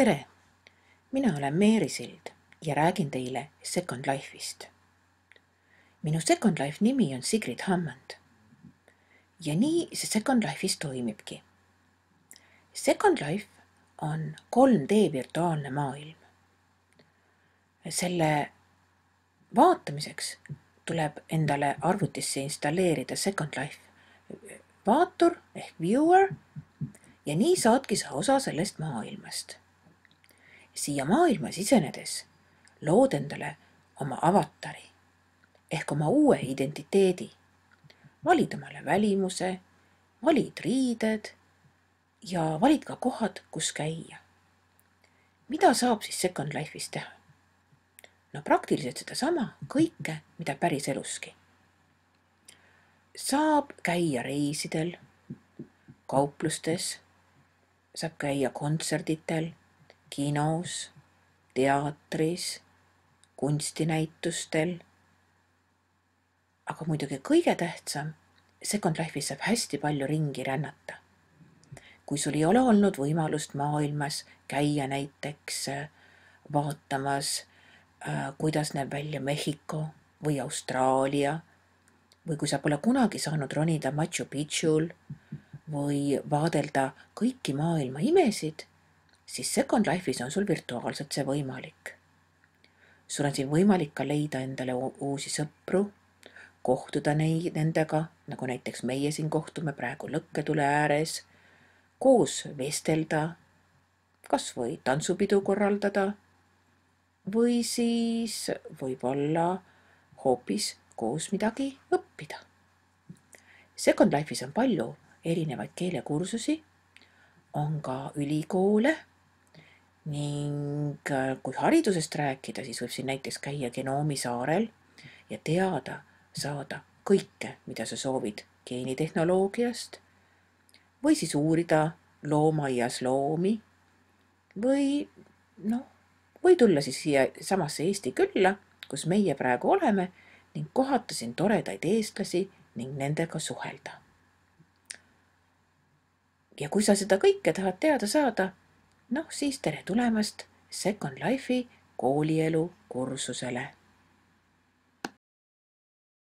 Tere! Mina olen Meeri Sild ja räägin teile Second Life'ist. Minu Second Life nimi on Sigrid Hammond. Ja nii see Second Life'is toimibki. Second Life on 3D virtuaalne maailm. Selle vaatamiseks tuleb endale arvutisse installeerida Second Life vaatur ehk viewer ja nii saadki sa osa sellest maailmast. Siia maailma sisenedes lood endale oma avatari ehk oma uue identiteedi. Valid omale välimuse, valid riided ja valid ka kohad, kus käia. Mida saab siis Second Life'is teha? No praktiliselt sedasama kõike, mida päris eluski. Saab käia reisidel, kauplustes, saab käia kontserditel, kinos, teatris, kunstinäitustel. Aga muidugi kõige tähtsam, Second Life'is saab hästi palju ringi rännata. Kui sul ei ole olnud võimalust maailmas käia näiteks vaatamas, kuidas näeb välja Mehhiko või Austraalia, või kui sa pole kunagi saanud ronida Machu Picchul või vaadelda kõiki maailma imesid, siis Second Life'is on sul virtuaalselt see võimalik. Sul on siin võimalik ka leida endale uusi sõpru, kohtuda nendega, nagu näiteks meie siin kohtume praegu lõkketule ääres, koos vestelda, kas või tantsupidu korraldada või siis võib-olla hoopis koos midagi õppida. Second Life'is on palju erinevaid keelekursusi, on ka ülikoole ning kui haridusest rääkida, siis võib siin näiteks käia Genoomi saarel ja teada saada kõike, mida sa soovid geenitehnoloogiast või siis uurida loomaaias loomi või tulla siis siia samasse Eesti külla, kus meie praegu oleme ning kohata siin toredaid eestlasi ning nendega suhelda. Ja kui sa seda kõike tahad teada saada, siis tere tulemast Second Life'i koolielu kursusele.